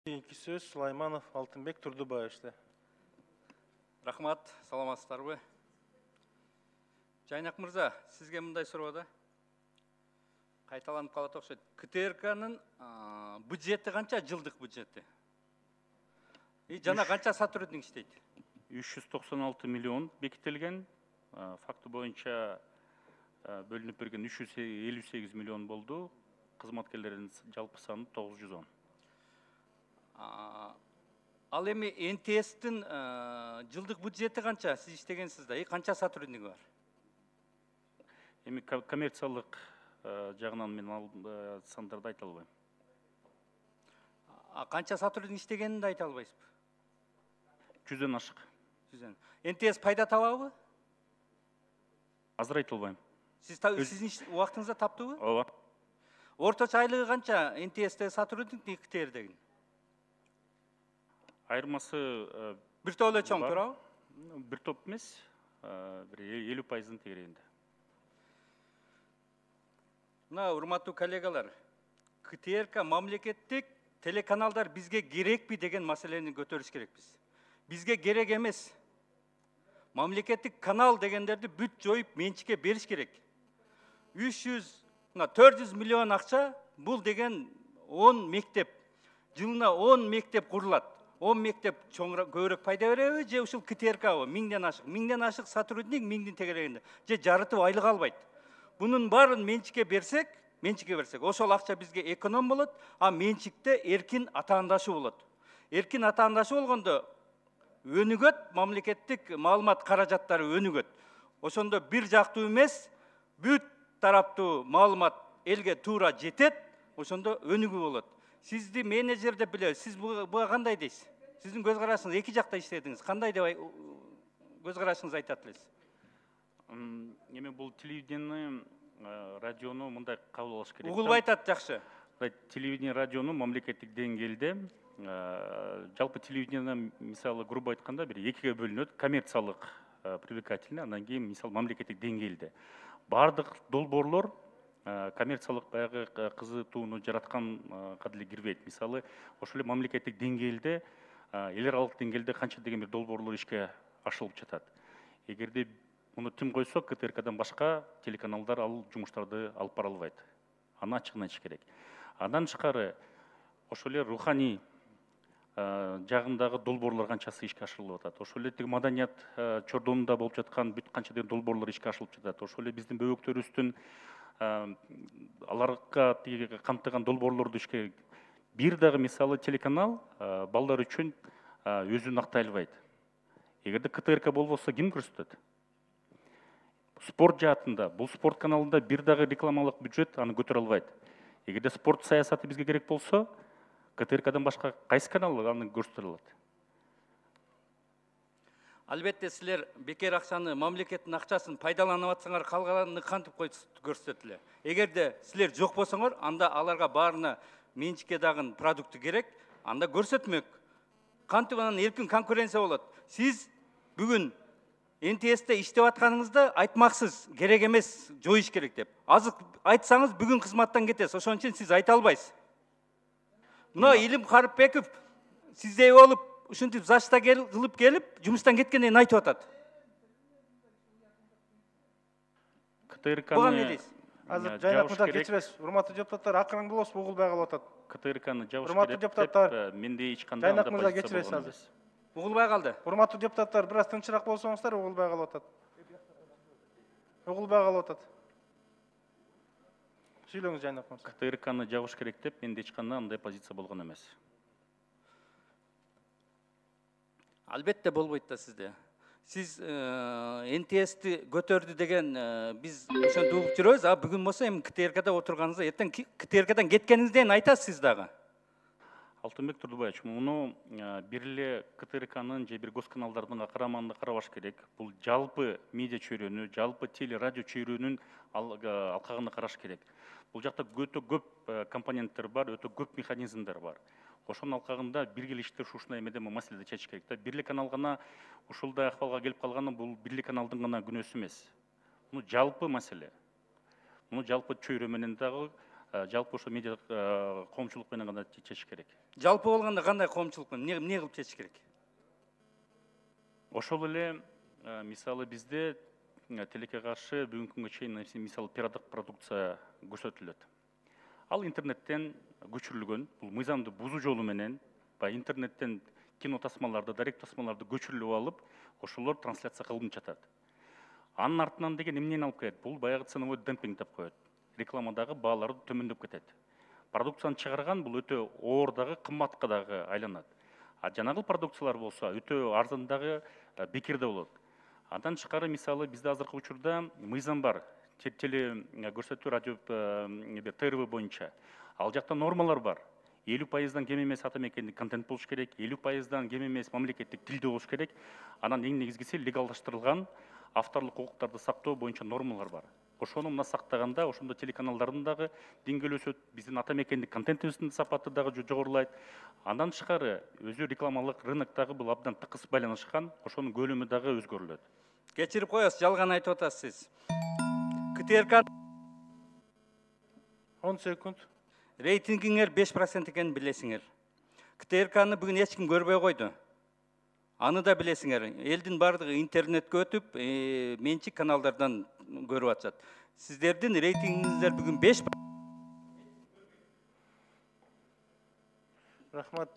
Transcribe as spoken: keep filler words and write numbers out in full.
Кийинки сөз Сулайманов Алтынбек Турдубаевичте. Рахмат, саламатсыздарбы? Жайнак мырза, сизге мындай суроо да. Кайталанып калат окшойт. КТРКнын бюджети канча, жылдык бюджети? И жана канча сотрудник иштейт? үч жүз токсон алты миллион бекитилген. Факты боюнча бөлүнүп берген үч жүз элүү сегиз миллион болду. Кызматкерлердин жалпы саны тогуз жүз он. Ал эми эн тэ эстин жылдык бюджети канча? Сиз иштегенсиз да. И канча сотрудник бар? Эми коммерциялык жагынан мен ал сандарды айта албайм. Канча сотрудник иштегенин да айта албайсызбы? жүздөн ашык. жүздөн. эн тэ эс пайда табабы? Азыр айта албайм. Сиз сиздин убактыңызда таптыбы? Ооба. Орточо айлыгы канча эн тэ эстеги сотрудник, КТРдеги? Айырмасы бир топ эле чоң, туурабы? Бир топ эмес, бир элүү пайыздын тегерегинде. Мына урматтуу коллегалар, КТРК мамлекеттик телеканалдар бизге керекпи деген маселени көтөрүш керекпиз. Бизге керек эмес. Мамлекеттик канал дегендерди бүт жоюп менчикке бериш керек. үч жүз, төрт жүз миллион акча, бул деген он мектеп. Жылына он мектеп курулат. он мектеп чоңураак көбүрөөк пайда береби же ушул КТРКбы? Миңден ашык. Миңден ашык сотрудник миңдин тегерегинде. Же жарытып айлык албайт. Бунун баарын менчикке берсек, менчикке берсек, ошол акча бизге эконом болот, а менчикте эркин атаандашы болот. Эркин атаандашы болгондо өнүгөт, мамлекеттик маалымат каражаттары өнүгөт. Ошондо бир жактуу эмес, бүт тараптуу маалымат элге туура жетет, ошондо өнүгүү болот. Сизди менеджер деп билебиз. Сиз буга кандай дейсиз? Сиздин көз карашыңыз эки жакта иштедиңиз. Кандай деп көз карашыңызды айтат элесиз? Эми бул телевидение, радиону мындай кабыл алыш керек. Угулбай атат, жакшы. Телевидение, радиону мамлекеттик деңгээлде жалпы телевидение мисалы грубо айтканда бир экиге бөлүнөт. Коммерциялык привлекательный, андан кийин мисалы мамлекеттик деңгээлде. Бардык долбоорлор коммерциялык баягы кызытууну жараткан кадиле кирбейт. Мисалы, ошол эле мамлекеттик деңгээлде, эл аралык деңгээлде канча деген бир долбоорлор ишке ашырылып жатат. Эгерде муну тим койсок, КТРКдан башка телеканалдар ал жумуштарды алып бара албайт. Аны ачыгын айтыш керек. Андан тышкары ошол эле руханий жагындагы долбоорлор канчасы ишке ашырылып атат. Ошол эле маданият чордонунда болуп жаткан бүт канча деген долбоорлор ишке ашырылып жатат. Ошол эле биздин бөбөктөрүбүздүн аларга камтыган долбоорлорду ишке бир дагы мисалы телеканал балдар үчүн өзүн актай албайт. Эгерде КТРК болбосо ким көрсөтөт? Спорт жаатында, бул спорт каналында бир дагы рекламалык бюджет аны көтөрө албайт. Эгерде спорт саясаты бизге керек болсо, КТРКдан башка кайсы канал аны көрсөтө алат? Албетте силер бекер акчаны, мамлекеттин акчасын пайдаланып атсаңар, калганын кантип көрсөтөт эле. Эгерде силер жок болсоңор, анда аларга баарына менчикке дагы продукты керек, анда көрсөтмөк. Кантип анан эркин конкуренция болот. Сиз бүгүн эн тэ эсте иштеп атканыңызда айтмаксыз, керек эмес, жоюш керек деп. Азыр айтсаңыз бүгүн кызматтан кетесиз. Ошон үчүн сиз айта албайсыз. Мына Илим Карыпбеков сиздей болуп, ушинтип зашта кылып келип, жумуштан кеткенден айтып атат. КТРКны азыр жайнак мырза кечиресиз. Урматтуу депутаттар, акырын болосуз, угулбай калып атат. КТРКны жабыш керек. Урматтуу депутаттар, менде эч кандай жайнак мырза кечиресиз азыр. Угулбай калды. Урматтуу депутаттар, бир аз тынчыраак болсоңуздар, угулбай калып атат. Угулбай калып атат. Сүйлөңүз жайнак мырза. КТРКны жабыш керек деп менде эч кандай андай позиция болгон эмес. Албетте болбойт да сизде. Сиз эн тэ эсти көтөрдү деген биз ошентип угуп жүрөбүз, а бүгүн болсо эми КТРКда отурганыңызда эртең КТРКдан кеткениңизден айтасыз сиз дагы. Алтынбек Турдубаевич, муну бир эле КТРКнын же бир госканалдардын карамагында карабаш керек. Бул жалпы медиа чөйрөнү, жалпы теле радио чөйрөнүн алкагында караш керек. Бул жакта өтө көп компоненттер бар, өтө көп механизмдер бар. Ошонун алкагында биргелиштер ушундай эмеде маселеде чечиш керек да. Бир эле канал гана ушулдай акыбалга келип калганы бул бир эле каналдын гана күнөөсү эмес. Муну жалпы маселе. Муну жалпы чөйрө менен дагы жалпы ошо медиа коомчулук менен гана чечиш керек. Жалпы болгондо кандай коомчулук менен эмне эмне кылып чечиш керек? Ошол эле мисалы бизде телекке каршы бүгүнкү күнгө чейин мисалы пираттык продукция көрсөтүлөт. Ал интернеттен көчүрүлгөн, бул мыйзамды бузуу жолу менен баягы интернеттен кино тасмаларды, дарек тасмаларды көчүрүлүп алып, ошолор трансляция кылынып жатат. Анын артынан деген эмнени алып келет? Бул баягы ценовой демпинг деп коет. Рекламадагы баалар төмөндөп кетет. Продукцияны чыгарган бул өтө оор дагы, кымбатка дагы айланат. А жанагы продукциялар болсо өтө арзан дагы, бекер да болот. Андан тышкары мисалы бизде азыркы учурда мыйзам бар. Теле көрсөтүү радио Т Р В боюнча. Ал жакта нормалар бар. элүү пайыздан кем эмес ата мекендик контент болуш керек, элүү пайыздан кем эмес мамлекеттик тилде болуш керек. Анан эң негизгиси легалдаштырылган авторлук укуктарды сактоо боюнча нормалар бар. Ошону мына сактаганда, ошондо телеканалдардын дагы деңгээли өсөт, биздин ата мекендик контентибиздин сапаты дагы жогорулайт. Андан тышкары өзү рекламалык рыноктогу бул абдан тыкыз байланышкан, ошонун көлөмү дагы өзгөрүлөт. Кечирип коесуз, жалган айтып атасыз. К Т Р К он секунд. рейтингиңер беш процент экенин билесиңер. К Т Р Кны бүгүн эч ким көрбөй койду. Аны да билесиңер. Элдин бардыгы интернетке өтүп, менчик каналдардан көрүп атышат. Сиздердин рейтингиңиздер бүгүн беш. Рахмат.